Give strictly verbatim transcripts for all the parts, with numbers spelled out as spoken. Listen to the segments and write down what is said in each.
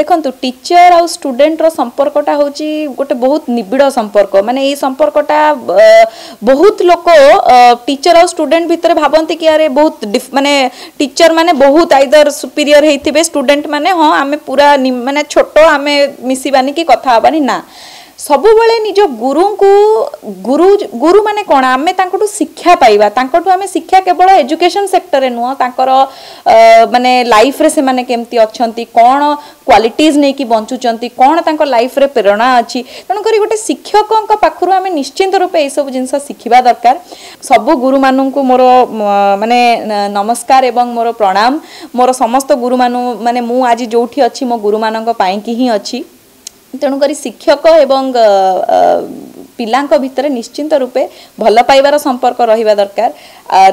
ଦେଖନ୍ତୁ, ଟିଚର ଆଉ ଷ୍ଟୁଡେଣ୍ଟର ସମ୍ପର୍କଟା ହେଉଛି ଗୋଟେ ବହୁତ ନିବିଡ଼ ସମ୍ପର୍କ। ମାନେ ଏଇ ସମ୍ପର୍କଟା ବହୁତ ଲୋକ ଟିଚର ଆଉ ଷ୍ଟୁଡେଣ୍ଟ ଭିତରେ ଭାବନ୍ତି କି ଆରେ ବହୁତ, ମାନେ ଟିଚର ମାନେ ବହୁତ ଆଇଦର ସୁପିରିୟର ହେଇଥିବେ, ଷ୍ଟୁଡେଣ୍ଟ ମାନେ ହଁ ଆମେ ପୁରା ମାନେ ଛୋଟ, ଆମେ ମିଶିବାନି କି କଥା ହେବାନି। ନା, ସବୁବେଳେ ନିଜ ଗୁରୁଙ୍କୁ, ଗୁରୁ ଗୁରୁ ମାନେ କ'ଣ, ଆମେ ତାଙ୍କଠୁ ଶିକ୍ଷା ପାଇବା। ତାଙ୍କଠୁ ଆମେ ଶିକ୍ଷା କେବଳ ଏଜୁକେସନ୍ ସେକ୍ଟରରେ ନୁହଁ, ତାଙ୍କର ମାନେ ଲାଇଫରେ ସେମାନେ କେମିତି ଅଛନ୍ତି, କ'ଣ କ୍ୱାଲିଟିଜ୍ ନେଇକି ବଞ୍ଚୁଛନ୍ତି, କ'ଣ ତାଙ୍କ ଲାଇଫରେ ପ୍ରେରଣା ଅଛି। ତେଣୁକରି ଗୋଟେ ଶିକ୍ଷକଙ୍କ ପାଖରୁ ଆମେ ନିଶ୍ଚିନ୍ତ ରୂପେ ଏଇସବୁ ଜିନିଷ ଶିଖିବା ଦରକାର। ସବୁ ଗୁରୁମାନଙ୍କୁ ମୋର ମାନେ ନମସ୍କାର ଏବଂ ମୋର ପ୍ରଣାମ। ମୋର ସମସ୍ତ ଗୁରୁମାନଙ୍କୁ, ମାନେ ମୁଁ ଆଜି ଯେଉଁଠି ଅଛି ମୋ ଗୁରୁମାନଙ୍କ ପାଇଁକି ହିଁ ଅଛି। ତେଣୁକରି ଶିକ୍ଷକ ଏବଂ ପିଲାଙ୍କ ଭିତରେ ନିଶ୍ଚିନ୍ତ ରୂପେ ଭଲ ପାଇବାର ସମ୍ପର୍କ ରହିବା ଦରକାର,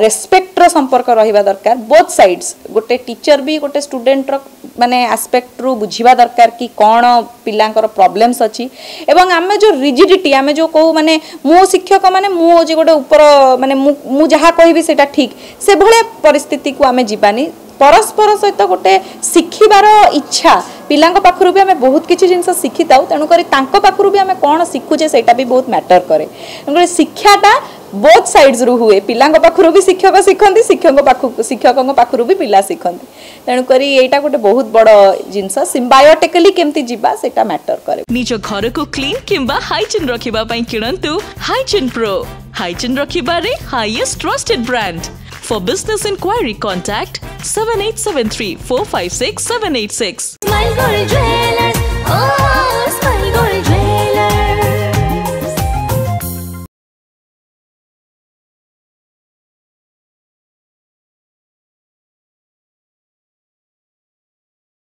ରେସ୍ପେକ୍ଟର ସମ୍ପର୍କ ରହିବା ଦରକାର, ବୋଥ୍ ସାଇଡ୍ସ। ଗୋଟେ ଟିଚର ବି ଗୋଟେ ଷ୍ଟୁଡେଣ୍ଟର ମାନେ ଆସ୍ପେକ୍ଟରୁ ବୁଝିବା ଦରକାର କି କ'ଣ ପିଲାଙ୍କର ପ୍ରୋବ୍ଲେମ୍ସ ଅଛି। ଏବଂ ଆମେ ଯେଉଁ ରିଜିଡିଟି, ଆମେ ଯେଉଁ କହୁ ମାନେ ମୁଁ ଶିକ୍ଷକ ମାନେ ମୁଁ ହେଉଛି ଗୋଟେ ଉପର, ମାନେ ମୁଁ ମୁଁ ଯାହା କହିବି ସେଇଟା ଠିକ୍, ସେଭଳିଆ ପରିସ୍ଥିତିକୁ ଆମେ ଯିବାନି। ପରସ୍ପର ସହିତ ଗୋଟେ ଶିଖିବାର ଇଚ୍ଛା, ପିଲାଙ୍କ ପାଖରୁ ବି ଆମେ ବହୁତ କିଛି ଜିନିଷ ଶିଖିଥାଉ, ତେଣୁକରି ତାଙ୍କ ପାଖରୁ ବି ଆମେ କ'ଣ ଶିଖୁଛେ ସେଇଟା ବି ବହୁତ ମ୍ୟାଟର କରେ। ତେଣୁକରି ଶିକ୍ଷାଟା ବୋଥ୍ ସାଇଡ୍ସରୁ ହୁଏ। ପିଲାଙ୍କ ପାଖରୁ ବି ଶିକ୍ଷକ ଶିଖନ୍ତି, ଶିକ୍ଷକଙ୍କ ପାଖକୁ ଶିକ୍ଷକଙ୍କ ପାଖରୁ ବି ପିଲା ଶିଖନ୍ତି। ତେଣୁକରି ଏଇଟା ଗୋଟେ ବହୁତ ବଡ଼ ଜିନିଷ, ସିମ୍ବାୟୋଟିକାଲି କେମିତି ଯିବା ସେଇଟା ମ୍ୟାଟର କରେ। ନିଜ ଘରକୁ କ୍ଲିନ୍ କିମ୍ବା ହାଇଜିନ୍ ରଖିବା ପାଇଁ କିଣନ୍ତୁ ହାଇଜିନ୍ ପ୍ରୋ। ହାଇଜିନ୍ ରଖିବାରେ highest trusted brand. For business inquiry, contact seven eight seven three four five six seven eight six. Smile Gold Jewelers, oh